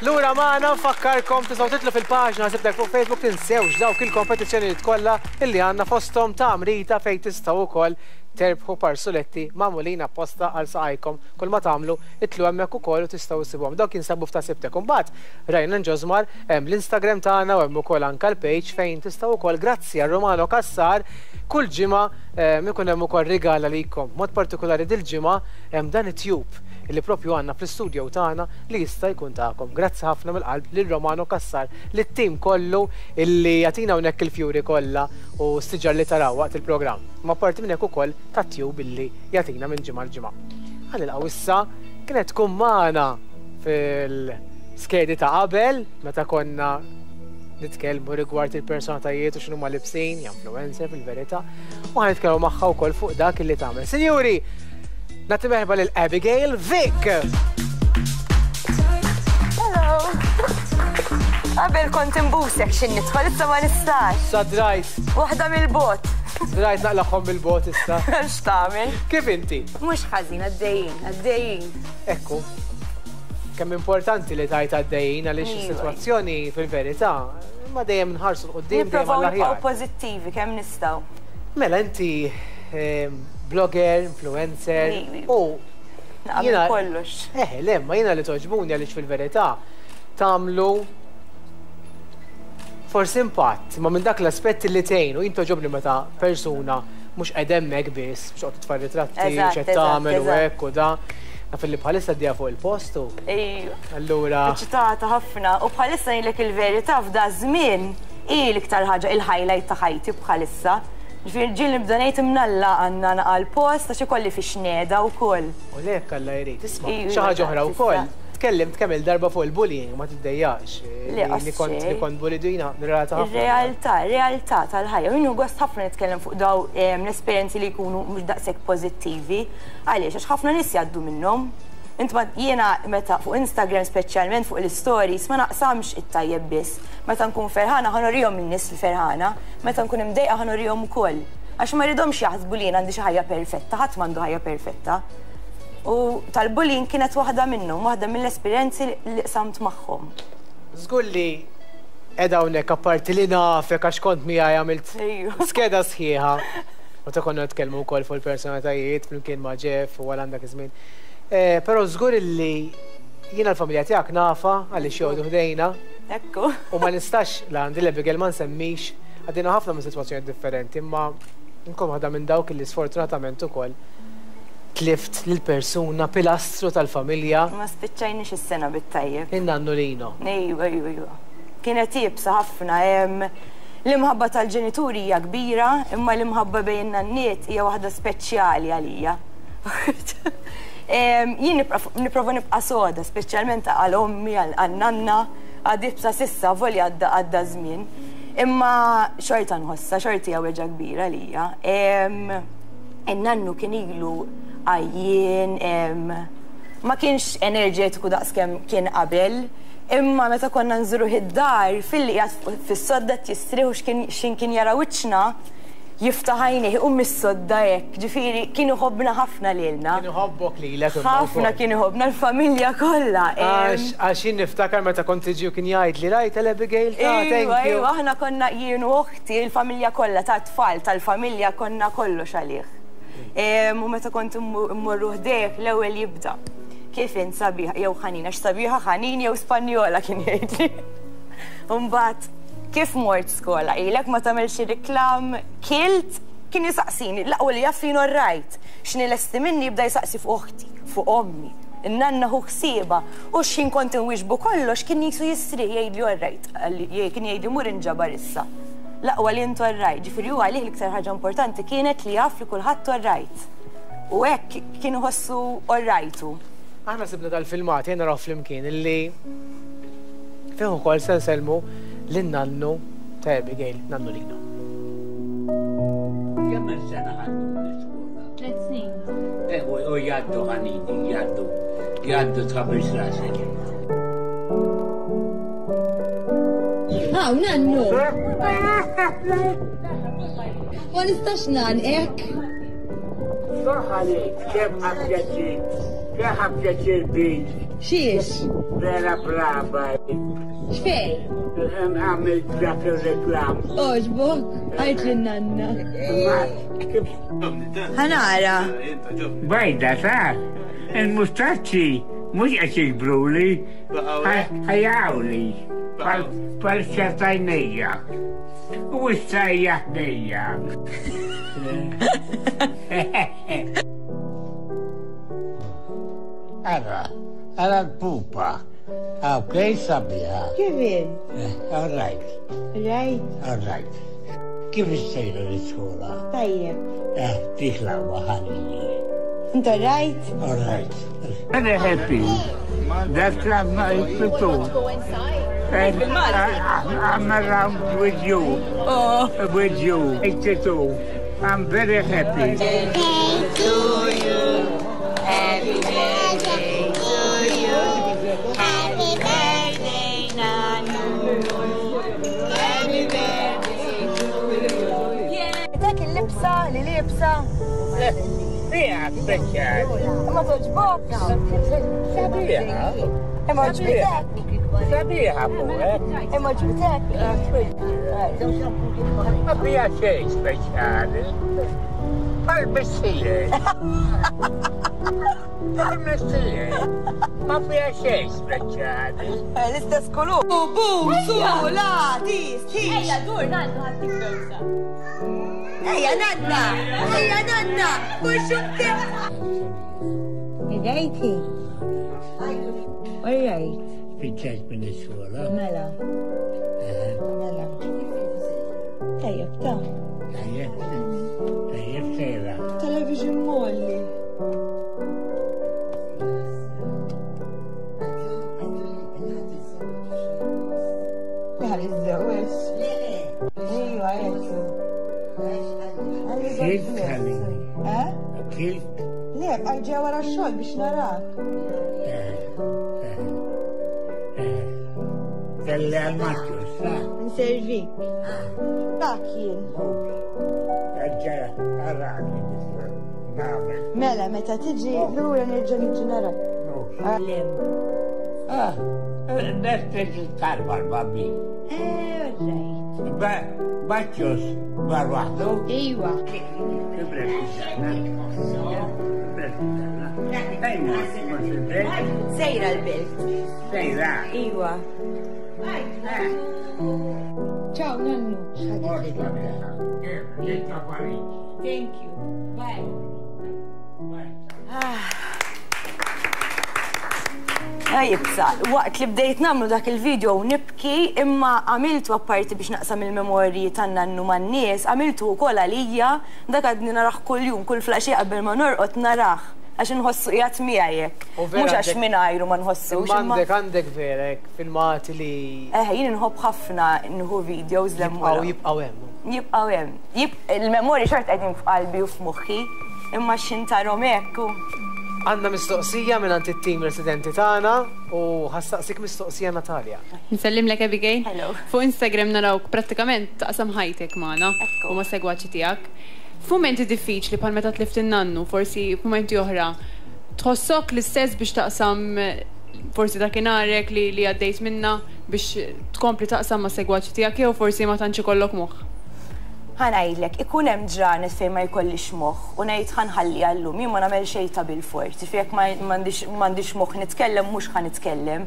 Lura magħna nfakkarkom tistgħu titlu fil-paġna sibtek fuq Facebook tinsewx dawk il-kompetizzjonijiet kollha illi għandna fosthom ta' Amrita fejn tistgħu wkoll terbħu parsuletti magħmulin apposta għal saqajkom. Kull ma tagħmlu itlu hemmhekk ukoll u tistgħu issibuhom. Dawk jinsabu f'ta' sibtek. Imbagħad Ryan Josmar hemm l-Instagram tagħna u hemm ukoll anke l-page fejn tistgħu wkoll grazzi għal Romano Cassar kull ġimgħa ikun hemm ukoll rigal għalikom. B'mod partikolari dil-ġimgħa hemm dan it-tube li propju għandna fl-istudio tagħna li jista' jkun tagħkom. Grazzi ħafna mill-qalb lil Romano Cassar, lit-tim kollu illi jagħtina hawnhekk il-fjuri kollha u s-siġar li taraw waqt il-programm. Imma apparti minn hekk ukoll tat-tube illi jagħtina minn ġimgħa għal ġimgħa. Ħa nilqgħu issa kienet tkun magħna fil-skedi ta' qabel meta konna nitkellmu rigward il-personatajiet u x'inhuma libsin, hija influencer fil-verità, u ħa nitkellmu magħha wkoll fuq dak li tagħmel. Sinjuri, nagħti merħba lil Abigail Vick! Hello! Qabel kont imbusek x'in nidħol, issa ma nistax. Sa drajt. Waħda mill-bot. Drajt naqlaħħom mill-bot issa. X'tagħmel? Kif inti? Mhux ħażin, għaddejjin, għaddejjin. Ekku. Kemm importanti li tajt għaddejjin għaliex is-sitwazzjoni fil-verità ma dejjem nħarsu 'l quddiem dejjem għall-aħjar. Nipprovaw pożittivi kemm nistgħu. Mela inti ehm, blogger, influencer u jiena kollox. Eh, le, ma jiena li toġbuni għaliex fil-verità tagħmlu forsi impatt, ma minn dak l-aspett li tgħin u jien toġobni meta persuna mhux qed hemmhekk biss, mhux qed titfa' ritratti, mhux qed tagħmel u hekk u da. Naf li bħalissa għaddejja fuq il-post u. Ejwa. Allura. Eċitata ħafna u bħalissa ngħidlek il-verità f'da żmien hi l-iktar ħaġa il-highlight ta' ħajti bħalissa. Ġifieri ġieli nibda ngħid imnalla għandna naqa' l-post għax ikolli fiex ngħeda wkoll. U le hekk Alla jrid. Isma' xi ħaġa oħra wkoll. Tkellimt kemm-il darba fuq il-bullying, ma tiddejjaqx. Le, qas Li kont li kont bullied u jiena nirrelata ħafna. Ir-realtà, realtà tal-ħajja. U jien nieħu gost ħafna nitkellem fuq daw l-esperjenzi li jkunu mhux daqshekk pożittivi. Għaliex? Għax ħafna nies jgħaddu minnhom. Int ma jiena meta fuq Instagram speċjalment fuq l-istories ma naqsamx it-tajjeb biss. Meta nkun ferħana ħa nurihom lin-nies li ferħana, meta nkun imdejqa ħa nurihom ukoll. Għax ma rridhomx jaħsbu li jien għandi xi ħajja perfetta, ħadd m'għandu ħajja perfetta. U tal-bullying kienet waħda minnhom, waħda mill-esperjenzi li qsamt magħhom. Żgur li qiegħda hawnhekk apparti li nafek għax kont miegħi għamilt skeda sħiħa. Meta konna nitkellmu wkoll fuq il-personalitajiet flimkien ma' Jeff u għal dak iż-żmien. Eh, però żgur illi jiena l-familja tiegħek nafa għaliex joqogħdu ħdejna. Ekku. U ma nistax la għandi l-Abigail ma nsemmix għaddejna ħafna minn sitwazzjonijiet differenti, imma nkun waħda minn dawk illi sfortunatament ukoll tlift lil persuna pilastru tal-familja. Ma spiċċajniex is-sena bit-tajjeb. In-nannu Lino. Ejwa, ejwa, ejwa. Kienet iebsa ħafna. L-imħabba tal-ġenituri hija kbira, imma l-imħabba bejn in-nanniet hija waħda speċjali għalija. Jien nipprova nibqa' soda, speċjalment għal ommi, għan-nanna, għad iebsa s'issa, avolja għadda għadda ż-żmien. Imma xorta nħossha, xorta hija weġgħa kbira għalija. In-nannu kien ilu għajjien, ma kienx enerġetiku daqskemm kien qabel. Imma meta konna nżuruh id-dar, filli qiegħed fis-sodda qed jistrieħ u x'ħin kien jara wiċċna, jiftaħ għajnejh iqum mis-sodda hekk. Ġifieri kien iħobbna ħafna lilna. Kien iħobbok lilek imma wkoll. Ħafna kien iħobbna l-familja kollha. Għax jien niftakar meta kont tiġi u kien jgħidli rajt 'l Abigail ta' thank you. Iva, iva, aħna konna jien u oħti, il-familja kollha tat-tfal tal-familja konna kollox għalih. U meta kont immorru ħdejh l-ewwel jibda. Kif int sabiħa jew ħanin, għax sabiħa ħanin jew Spanjola kien jgħidli. Imbagħad kif mort skola ilek ma tagħmel xi riklam, kilt, kien jisaqsini, l-aqwa li jaf jien orrajt. X'inhi lesti minni jibda jsaqsi fuq oħti, fuq ommi, in-nanna ħu ħsiebha u x'ħin kont inwieġbu kollox kien qisu jistrieħ jgħidli orrajt, kien jgħidli mur inġabar issa. L-aqwa li int orrajt, ġifieri hu għalih l-iktar ħaġa importanti kienet li jaf li kulħadd orrajt. U hekk kien iħossu all right hu. Aħna sibna dal-filmat, ejja narawh flimkien, illi fih ukoll se nsellmu lin-nannu ta' Abigail, nannu Lino. Kemm sena ħadtu l-iskola? Tlet snin. Eh, u jgħaddu ħanini, jgħaddu, jgħaddu tħabbix rasek. Aw, nannu! Ma nistax nan, ek. Saħ għalik, kemm għapjaċi. Keħa pjaċir bik. Xiex? Vera brava. Xfej? Għamil dak il-reklam. Oġbok, għajt li nanna. Ħanara. Bajda, ta' il-mustaċċi mhux qed jikbruli, ħajawli. Pal xatajnija. U issa hija ħdejja. Ara, ara l-pupa. Ok, sabiħa. Kif eh, All right. Right. All right. Kif issejra l-iskola? Tajjeb. Eh, dik l-għwa ħalli. Inta right? All right. Very happy. That's my people. And I'm around with you. Oh. With you. 82. I'm very happy. to you. Happy birthday to you. Happy birthday, Nanu. Happy birthday to you. Dak il-libsa li libsa. Fija speċjali. Ma toġbok. Sabiħa. Imma ġbitek. Sabiħa fuqek. Imma ġbitek. Ma fija xejn speċjali. Pal missier. Pal missier. Ma fija xejn speċjali. Eh, l-istess kolur. Bu, su, la, ti, sti. Ejja, dur, nannu, ħattik bewsa. Ejja, nanna. Ejja, nanna. Kuxukte. Rajti. All right. Fiċċajt minn iskola. Mela. Mela. Tajjeb, ta' Tajjeb, tajjeb sejra. Television molli. Għal iż-żewġ. Ejwa, jekk. Kilt ħalli. Eh? Kilt. Le, għajġa wara x-xogħol biex narak. Kelli għal-maċċu, sa. Nservik. Dak jien. Għagġa għarani. Nagħmel. Mela, meta tiġi lura nerġa' niġi narak. Ah, Nesteġ il-karba l-babbi. Eh, right. Baċċus, bar waħdu. Ejwa. Kibret il-sena. Kibret il-sena. Ejna, mux il-belt. Sejra l-belt. Sejra. Iwa. Ciao, nannu. Thank you. Bye. Jibsa, waqt li bdejt namlu dak il-video nibki imma għamiltu apparti biex naqsam il-memorji tan-nannu man-nies, għamiltu wkoll għalija, dak għadni narah kuljum, kull flaxija qabel ma norqod narah għax inħossu qiegħed miegħi hekk. U vera Mhux għax għandek- mingħajru ma nħossux. Imma imma- għandek għandek vera hekk filmati li Eh, jien inħobb ħafna nħu videos l jibqgħu jibqgħu hemm. Jibqgħu hemm. Il-memorji xort qegħdin f'qalbi u f'moħħi, imma x'intarhom hekk u Għandna mistoqsija minn għand it-tim residenti tagħna u ħassaqsik mistoqsija Natalja. Nsellimlek Abigail. Hello. Fuq Instagram narawk prattikament taqsam ħajtek magħna Ekku. u ma' segwaċi tiegħek. F'mumenti diffiċli bħal meta tlift in-nannu, forsi f'mumenti oħra, tħossok l-istess biex taqsam eh, forsi dakinharek li li għaddejt minna biex tkompli taqsam ma' segwaċi tiegħek jew forsi ma tantx ikollok moħħ. Ħanajdlek, ikun hemm ġranet fejn ma jkollix moħħ u ngħid ħanħalli għallum, jien ma nagħmel xejn ta' bil-fort. Ġifieri jekk m'għandix moħħ nitkellem mhux ħa nitkellem.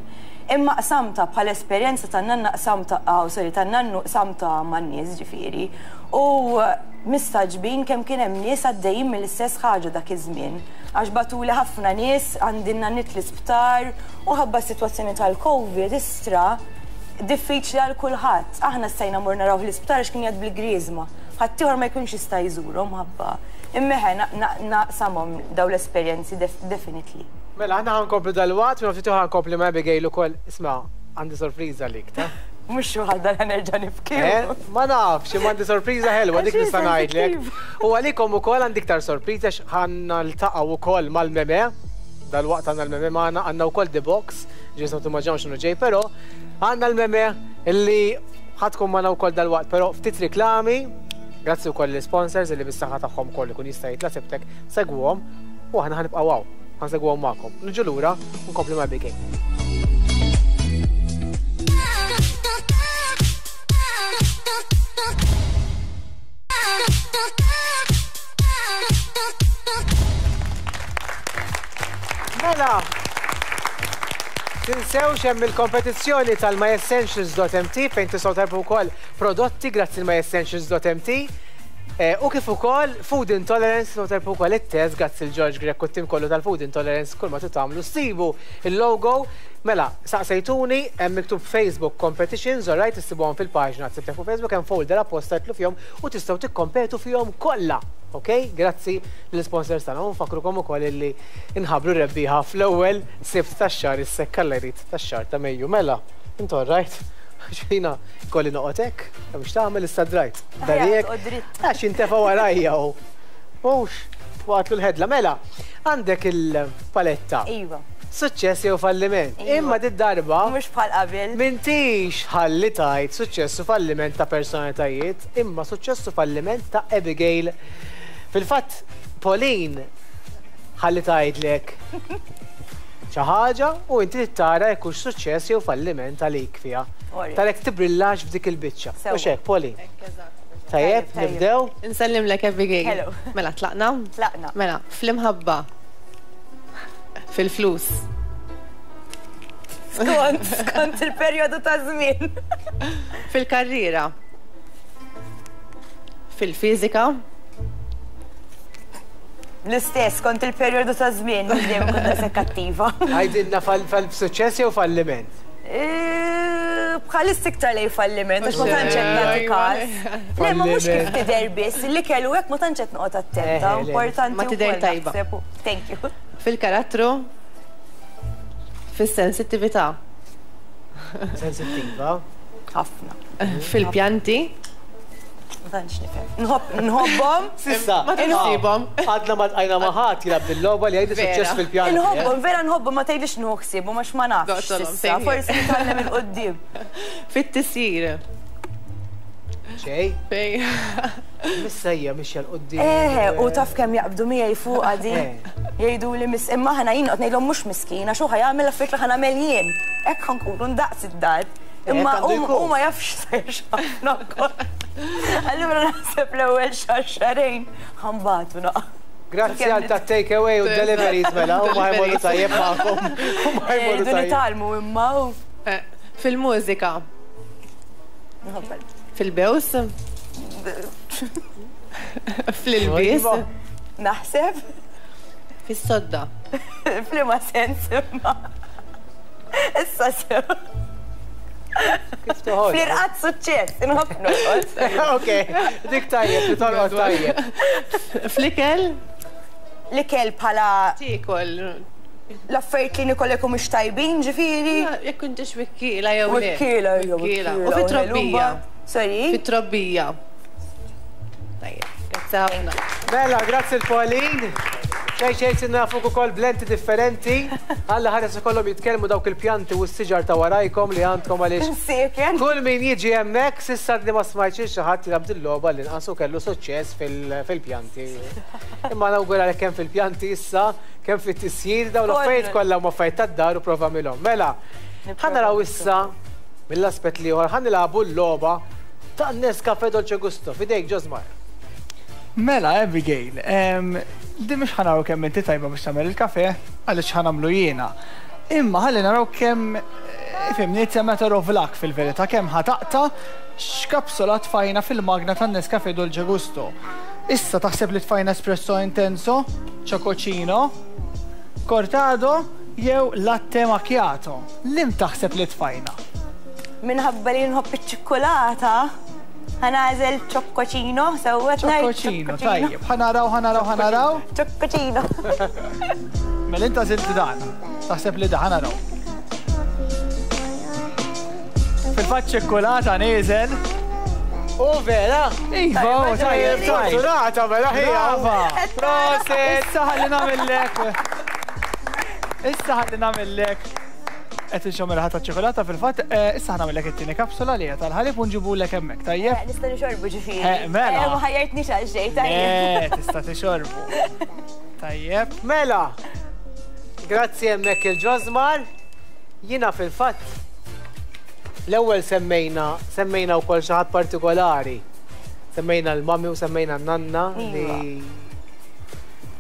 Imma qsamta bħala esperjenza tan-nanna qsamta, oh, sorry, tan-nannu qsamta man-nies ġifieri. U mistaġbin kemm kien hemm nies għaddejjin mill-istess ħaġa dak iż-żmien. Għax batuli ħafna nies għandi n-nannit l-isptar u ħabba s-sitwazzjoni tal-Covid istra diffiċli għal kulħadd. Aħna stajna mor naraw l-isptar għax kien jgħid bil-griżma. Ħaddieħor ma jkunx jista' jżurhom ħabba. Imma eħe, naqsamhom daw l-esperjenzi definitely. Mela, aħna ħankomplu dal-waqt, minn ftit oħra nkompli ma' Abigail ukoll. Isma' għandi sorpriża għalik, ta? Mhux xi ħaġa li nerġa' nibki. Eh? Ma nafx, imma għandi sorpriża ħelwa dik Għax nista' ngħidlek. sensittiva. U għalikom ukoll għandi iktar sorpriża x'ħan niltaqgħu ukoll mal-meme. Dal-waqt għandna l-meme magħna, għandna wkoll The Box, ġisna timmaġinaw x'inhu ġej, però għandna l-meme illi ħadkom magħna wkoll dal-waqt, però ftit riklami, grazzi wkoll l-sponsors illi bis-saħħa tagħhom ukoll ikun jista' jitla' sibtek, segwuhom u aħna ħanibqgħu hawn. Ħa nsegwuhom magħkom. Niġu lura u nkomplu ma' Abigail. Mela, tinsewx hemm il-kompetizzjoni tal-myessentials.mt fejn tistgħu tarbħu wkoll prodotti grazzi l-myessentials.mt. Eh, u kif ukoll Food Intolerance tistgħu tarbħu wkoll it-test grazzi l George Grech u t-tim kollu tal-Food Intolerance kull ma tagħmlu ssibu il-logo. Mela, saqsejtuni hemm miktub Facebook Competitions, alright, issibuhom fil-paġna tsibtek fuq Facebook hemm folder apposta titlu fihom u tistgħu tikkompetu fihom kollha. Ok? Grazzi l-sponsors tagħna. U nfakkrukom ukoll illi nħabbru rebbieħa fl-ewwel Sibt tax-xahar is-sekk Alla jrid tax-xahar ta' Mejju. Mela, int alright? Għax jiena kolli noqgħod hekk, hemm x'tagħmel issa drajt. Darjek. Għax jintefa' warajja u. Mhux, waqgħatlu l-ħedla. Mela, għandek il-paletta. Iva. Suċċess jew falliment. Iva. Imma did-darba. Mhux bħal qabel. M'intix ħalli tgħid suċċess u falliment ta' personalitajiet, imma suċċess u falliment ta' Abigail. Fil-fatt, Pauline ħalli tgħidlek xi ħaġa u inti trid tara jekk hux suċċess jew falliment għalik fiha. Alright. Tara jekk tibrillax f'dik il-biċċa. Sewwa. Mhux hekk, Pauline? Tajjeb, Tajjeb, tajjeb. nibdew? Insellimlek Abigail. Hello. Mela, tlaqna? Tlaqna. Mela, fl-imħabba. Fil-flus. Skont, skont il-perjodu ta' żmien. Fil-karriera. Fil-fiżika. L-istess, skont il-perjodu ta' żmien, mhux dejjem kont daqshekk attiva. Għidilna fal-suċċess jew falliment? Bħalissa iktar lejn falliment, għax ma tantx qed nagħti każ. Le, ma mhux kif tidher biss, l-ikel u hekk ma tantx qed noqgħod attenta, Eh, le. importanti Ma tidher wkoll tajba. naħseb. Thank you. Fil-karattru. Fis-sensittività. Sensittiva. Ħafna. Fil-pjanti. Ma tantx nifhem. Nħobb nħobbhom. Sissa, Ma tħobbhom. Għadna ma tqajna ma ħadd jilgħab bil-logħba li jgħidu Vera. suċċess fil-pjanti. eh? Nħobbhom, vera nħobbhom, ma tgħidlix nieħu ħsiebhom għax ma nafx. Doqtolhom, Sissa, same here. forsi nitgħallem il-qudiem. Fit-tisjir. Xej, Fej. missejja mixja l-qoddim. Eh, u taf kemm jaqbdu miegħi fuq għadi. Eh. Jgħidu li mis imma ħana jien qed ngħidlhom mhux miskina, xu ħa jagħmel affarijiet li ħa nagħmel jien. Hekk ħa nkunu ndaqs id-dar. Imma Hekk għandu hu jkun. hu ma jafx sejr x'ħafna wkoll. Allura naħseb l-ewwel xahar xahrejn ħa nbatu naqa'. Grazzi għal ta' take away u deliveries mela, u ma jmorru tajjeb magħkom. U ma jmorru Jridu tajjeb. nitgħallmu imma u Eh, Fil-mużika. nħobbel. Fil-bews. Fl-ilbies. Iva. Naħseb Fis-sodda. f'liema sens imma. Issa sew. Kif toħod? Fl-irqad suċċess, inħobb norqod. Ok, dik tajjeb, li torqod tajjeb. Fl-ikel. L-ikel bħala Tiekol. l-affarijiet li nikol jekk mhux tajbin, ġifieri. Jekk intix wikkiela jew le. Wikkiela, jew Wikkiela. wikkiela. U fit-trobbija. Sorry. Fit-trobbija. Tajjeb. Grazzi ħafna. Mela, grazzi l-Pauline. Xej xej sinna fuq ukoll blenti differenti. Alla ħares ikollhom jitkellmu dawk il-pjanti u s-siġar ta' warajkom li għandkom għaliex Msieken. Kull min jiġi hemmhekk s'issa li ma smajtx xi ħadd jilgħab dil-logħba li nqasu kellu suċċess fil-pjanti. Imma nawguralek kemm fil-pjanti issa, kemm fit-tisjir dawn l-affarijiet kollha huma affarijiet tad-dar u prova milhom. Mela, ħa naraw issa mill-aspett l-ieħor ħa nilagħbu l-logħba ta' Nescafe Dolce Gusto. Fidejk Josmar. Mela, Abigail, di mhux ħa naraw kemm inti tajba biex tagħmel il-kafe, għaliex ħa nagħmlu jiena. Imma ħalli naraw kemm fimni, it's a matter of luck fil-verità, kemm ħa taqta' x'kapsola tfajna fil-magna tan-Nescafe Dolce Gusto. Issa taħseb li tfajna espresso intenso, chococino, cortado jew latte macchiato. Lim taħseb li tfajna? Minħabba li nħobb iċ-ċikkulata, ħa nagħżel ċokkoċino, sewwa ngħid Ċokkoċino, tajjeb. Ħa naraw, ħa naraw, ħa naraw. Ċokkoċino. Mela inta għażilt dan. Taħseb li dan, ħa naraw. Fil-fatt ċikkulata nieżel. U vera? Iva, u tajjeb, tajjeb. Fortunata, mela ħija. Brava. Prosit. Issa ħalli nagħmellek. Issa ħalli nagħmellek. Qed inxomm il ta' ċokolata fil-fatt, issa ħa nagħmellek it-tieni kapsula li hija tal-ħalib u nġibulek hemmhekk, tajjeb? Nista' nixorbu ġifieri. Mela. Ma ħajjartniex għal xejn, tajjeb. Le, tista' tixorbu. Tajjeb. Mela. Grazzi hemmhekk il-Ġożmar. Jiena fil-fatt l-ewwel semmejna semmejna wkoll xi ħadd partikolari. Semmejna l-mami u semmejna n-nanna li Iva.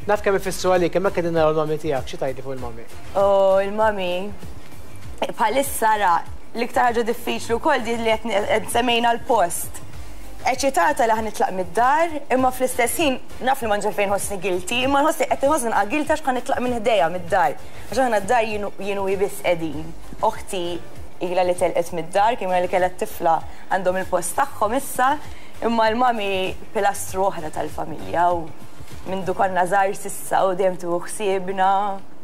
naf kemm ifissru għalik, hemmhekk qegħdin naraw l-mami tiegħek, xi tgħidli fuq il-mami? U il-mami bħalissa ra l-iktar ħaġa diffiċli wkoll din li qed semmejna l-post. Eċitata li ħa nitlaq mid-dar, imma fl-istess ħin naf li m'għandix għalfejn nħossni guilty, imma nħossni qed inħossni nqa' guilty għax ħa nitlaq minn ħdejja mid-dar. Għax aħna d-dar jien u hi biss qegħdin. Oħti ilha li telqet mid-dar, kemm ilha li kellha t-tifla għandhom il-post tagħhom issa, imma l-mami pilastru oħra tal-familja u mindu konna żgħar s'issa u dejjem tieħu ħsiebna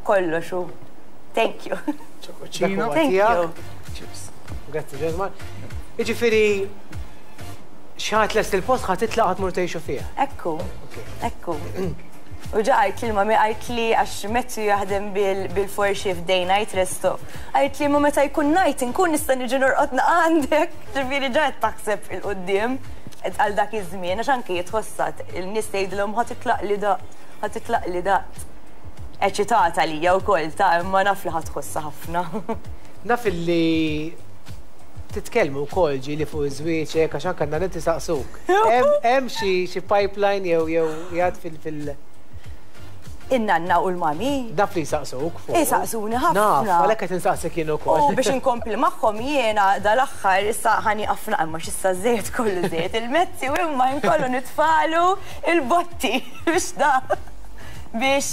kollox u thank you. Dak huwa Thank you. tiegħek. Cheers. Grazzi Ġożmar. Jiġifieri xi ħadd lest il-post ħa titlaq ħa tmur tgħixu fih. Ekku, ekku. U ġa għajt li l-mami għajt li għax Matthew jaħdem bil-four shift day night resto. Għajt li ma meta jkun night inkun nista' niġi norqod għandek. Ġifieri ġa qed taħseb il-quddiem għal dak iż-żmien għax anke jitħossat il-nies tgħidilhom ħa titlaq li daqt, ħa titlaq li daqt. Eċitata lija wkoll ta' imma naf li ħa tħossha ħafna. Naf illi titkellmu wkoll ġieli fuq iż-żwieġ hekk għax anke għandna inti saqsuk. Hemm xi pipeline jew jgħad fil In-nanna u l-mami. Naf li jsaqsuk fuq. Isaqsuni ħafna. Naf, għalhekk qed insaqsik jien ukoll. U biex inkompli magħhom jiena dal-aħħar issa ħani ħafna imma x'issa żejt kollu żejt il-mezzi u imma nkollu nitfalu il-botti biex da biex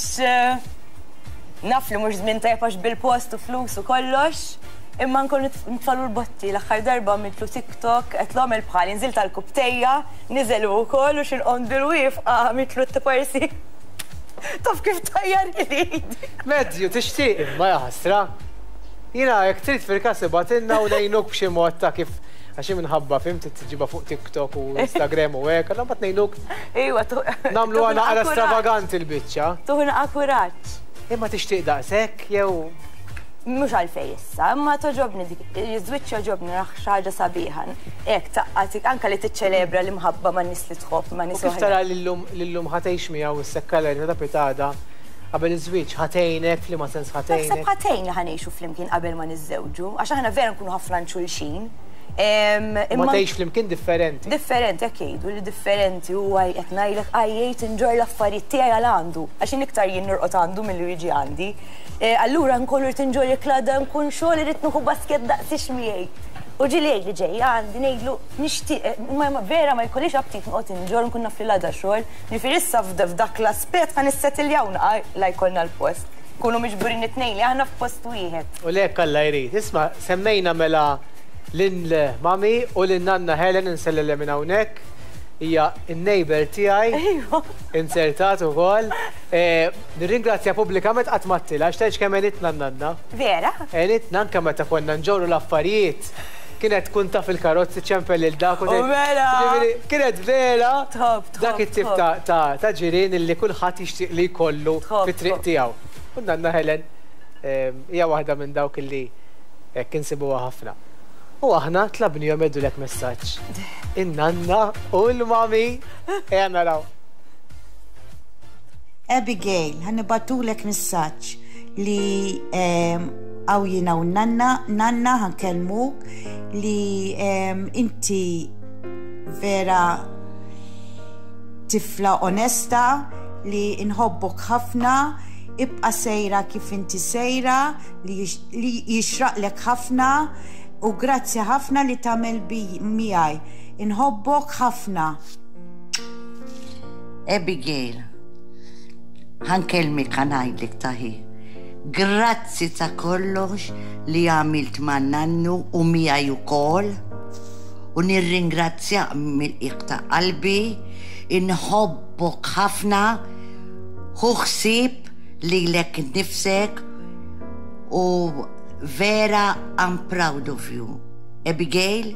naf li mhux żmien tajjeb għax bil-post u flus u kollox. Imma nkollu nitfalu l-botti l-aħħar darba għamiltlu TikTok qed l bħali nżilt tal-kubtejja, niżel u wkoll u x'inqom bil-wifqa għamiltlu t-parsi. Taf kif tajjar ili. Matthew, tixtieq imma jaħasra. Jiena jekk trid fil-każ ibgħatilna u ngħinuk b'xi mod ta' kif għax minħabba fhimt tiġiba fuq TikTok u Instagram u hekk, allura mbagħad ngħinuk Iwa, nagħmluha naqra stravaganti l-biċċa. Tuħna kuraġġ. Imma tixtieq daqshekk jew Mhux għalfej issa, imma toġobni dik, iż-żwieġ joġobni raħ xi ħaġa sabiħa. Hekk taqqatik anke li tiċċelebra l-imħabba ma' nies li tħobb, ma' nies U kif oħra. tara lillum ħa tgħix miegħu s-sekkala li ta' pitada qabel iż-żwieġ ħa tgħinek f'liema sens Naħseb ħa tgħinek? ħa tgħin li ħa ngħixu flimkien qabel ma niżżewġu, għax aħna vera nkunu ħafna xulxin. Ma tgħix flimkien differenti. Differenti, hekk jgħidu li differenti huwa qed ngħidlek għajjejt inġorr l-affarijiet tiegħi għal għandu, għax jien iktar jien norqod għandu milli jiġi għandi. Allura nkollu rrid inġorr jekk l-għada nkun xogħol irrid nieħu basket daqsix miegħi. U ġieli jgħidli ġejja għandi ngħidlu nixtieq, ma vera ma jkollix aptit noqgħod inġorr nkun naf li l-għada xogħol. Ġifieri issa f'dak l-aspett ħa nissettiljaw la jkollna l-post. Kunu miġburin it-tnejn li aħna f'post wieħed. U lek Alla jrid. Isma' semmejna mela lil mami u lil nanna Helen insellilha minn hawnhekk. Hija n-neighbor tiegħi. Iva. Insertat ukoll. Nirringrazzja pubblikament qatt ma għedtilha għax tgħidx kemm għenitna n-nanna. Vera? Għenitna anke meta konna nġorru l-affarijiet. Kienet tkun taf il-karozzi ċempel lil dak u U mela! Ġifieri, kienet vera Tħobb, tħobb, dak it-tip ta' ġirien illi kulħadd jixtieq li jkollu fit-triq tiegħu. U nanna Helen hija waħda minn dawk illi hekk insibuha ħafna. U aħna tlabnihom jgħiddulek messaġġ. In-nanna u l-mami ejja naraw. Abigail, ħa nibagħtulek messaġġ li hawn jiena u nanna, nanna ħa nkellmuk li inti vera tifla onesta li nħobbok ħafna, ibqa sejra kif inti sejra, li jixraqlek ħafna u grazzi ħafna li tagħmel miegħi. Inħobbok ħafna. Abigail, ħa nkellmek ħa ngħidlek taħi. Grazzi ta' kollox li għamilt ma' nannu u miegħi ukoll. U nirringrazzjak mill-qiegħ ta' qalbi, inħobbok ħafna, ħu ħsieb lilek nifsek u vera I'm proud of you. Abigail,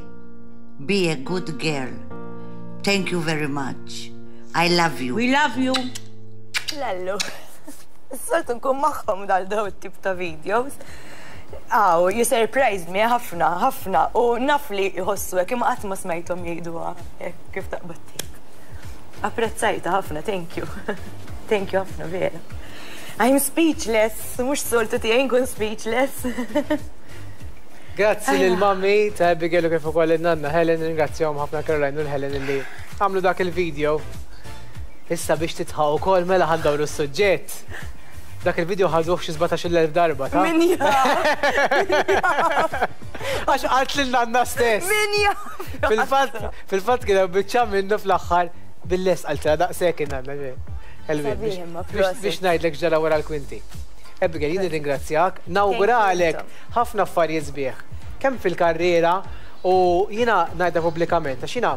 be a good girl. Thank you very much. I love you. We love you. Lallu. Soltu nkun magħhom dal daw it-tip ta' videos. Aw, you surprised me ħafna, ħafna. U naf li jħossu hekk imma qatt ma smajthom jgħiduha hekk kif taqbad tgħid. Apprezzajta ħafna, thank you. Thank you ħafna vera. I'm speechless, mhux soltu tiegħi nkun speechless. Grazzi lil mummy ta' Abigail u kif ukoll in-nanna Helen, ringrazzjahom ħafna Caroline u l-Helen illi għamlu dak il-video. Issa biex titħaq ukoll mela ħa ndawru s-suġġett. Dak il-video ħaduh xi 17,000 darba, ta'? Min jaf? Għax qalt lil nanna stess. Min jaf? Fil-fatt, fil-fatt kien hemm biċċa minnu fl-aħħar bil-lest qaltilha daqshekk in-nanna. Elvin, biex ngħidlek x'ġara wara l-kwinti. Abigail, jien nirringrazzjak, nawguralek ħafna affarijiet sbieħ, kemm fil-karriera u jiena ngħidha pubblikament, għax jiena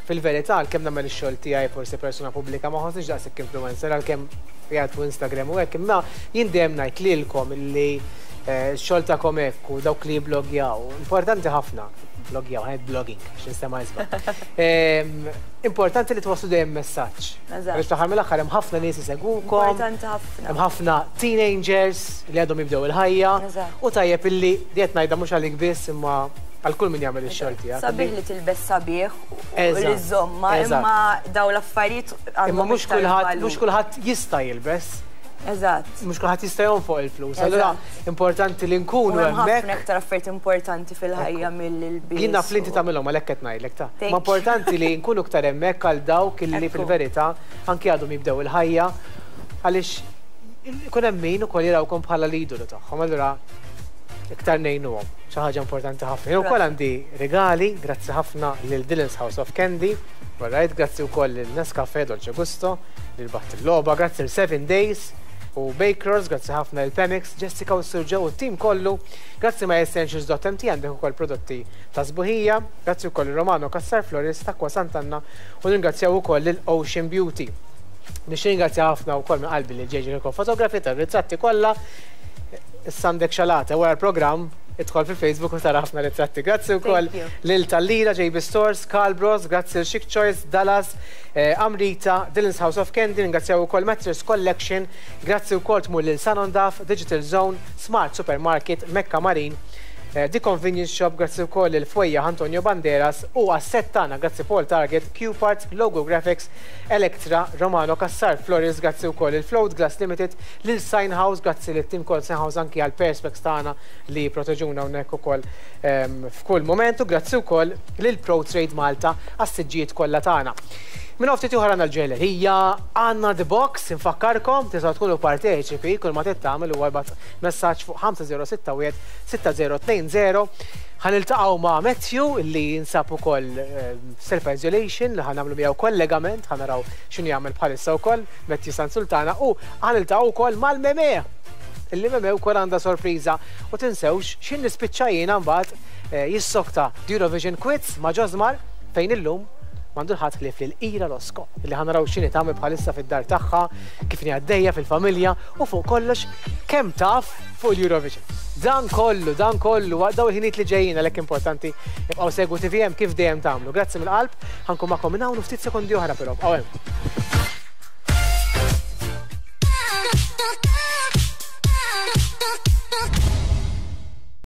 fil-verità għalkemm nagħmel ix-xogħol tiegħi forsi persuna pubblika ma nħossnix daqshekk influencer għalkemm qiegħed fuq Instagram u hekk, imma jien dejjem ngħid lilkom illi x-xogħol tagħkom hekk u dawk li jibblogjaw, importanti ħafna, blogjaw, ħa ngħid blogging biex ninstema' isbaħ. Importanti li twasslu dejjem messaġġ. Eżatt. Għaliex fl-aħħar mill-aħħar hemm ħafna nies isegwukom. Importanti ħafna. Hemm ħafna teenagers li għadhom jibdew il-ħajja. Eżatt. U tajjeb illi di qed ngħidha mhux għalik biss imma għal kull min jagħmel ix-xogħol tiegħek. Sabiħ li tilbes sabiħ u Eżatt. li żżommha, Eżatt. imma dawn l-affarijiet Imma għandhom mhux iktar kulħadd valur. mhux kulħadd jista' jilbes. Eżatt. Mhux kulħadd jista' jonfoq il-flus. Allura importanti li nkunu U hemm hemmhekk. ħafna iktar affarijiet importanti fil-ħajja mill-ilbies. Jien naf li inti tagħmilhom għalhekk qed ngħidlek ta. Thank Ma importanti li nkunu iktar hemmhekk għal dawk illi fil-verità anki għadhom jibdew il-ħajja għaliex ikun hemm min ukoll jarawkom bħala l-idolu tagħhom. Allura iktar ngħinuhom. Xi ħaġa importanti ħafna. Jien ukoll għandi regali, grazzi ħafna lil Dylan's House of Candy, alright, grazzi wkoll lil Nescafe Dolce Gusto, lil Baħt il-Logħba, grazzi lil Seven Days u Bakers, grazzi ħafna lil Pemix, Jessica u Sir Joe u t-tim kollu, grazzi ma essentials.mt għandek ukoll prodotti ta' sbuħija, grazzi wkoll lil Romano Cassar Florist, Acqua Sant'Anna u nirringrazzjaw ukoll lil Ocean Beauty. Nixtieq ringrazzja ħafna wkoll minn qalbi lil JJ Kirkop Photography tar-ritratti kollha. Issa għandek xalata wara l-programm idħol fil-Facebook u tara ħafna ritratti. Grazzi wkoll lil Tallira, JB Stores, Carl Bros, grazzi lil Chic Choice, Dallas, Amrita, Dylan's House of Candy, ringrazzjaw ukoll Mattress Collection, grazzi wkoll tmur lil Sanondaf, Digital Zone, Smart Supermarket, Mecca Marine, The Convenience Shop, grazzi wkoll lil Fwejjaħ Antonio Banderas u għas-set tagħna, grazzi Paul Target, Q Parts, Logo Graphics, Electra, Romano Cassar Flores, grazzi wkoll lil Float Glass Limited, lil Sign House, grazzi lit tim kol Sign House anki għal perspex tagħna li jipproteġuna hawnhekk ukoll f'kull mument u grazzi wkoll lil Pro Trade Malta għas-siġġijiet kollha tagħna. Minn hawn ftit ieħor għandna l-ġojjellerija, għandna The Box, infakkarkom, tistgħu tkunu parteċipi, kull ma trid tagħmel huwa ibgħat messaġġ fuq 5061 6020. Ħa niltaqgħu ma' Matthew li jinsab ukoll self-isolation li ħa nagħmlu miegħu kollegament, ħa naraw x'inhu jagħmel bħalissa wkoll Matthew San Sultana u ħa niltaqgħu wkoll mal-Meme. Illi Meme wkoll għandha sorpriża u tinsewx x'in nispiċċa jiena mbagħad jissokta The Eurovision Quiz ma' Josmar fejn illum m'għandu l-ħadd ħlief lil Ira Losco illi ħa naraw x'inhi tagħmel bħalissa fid-dar tagħha, kif inhi għaddejja fil-familja u fuq kollox kemm taf fuq l-Eurovision. Dan kollu, dan kollu, waqt dawn il-ħinijiet li ġejjin għalhekk importanti ibqgħu segwu TVM kif dejjem tagħmlu. Grazzi mill-qalb, ħa nkun magħkom minn hawn u ftit sekondi oħra però, ibqgħu hemm.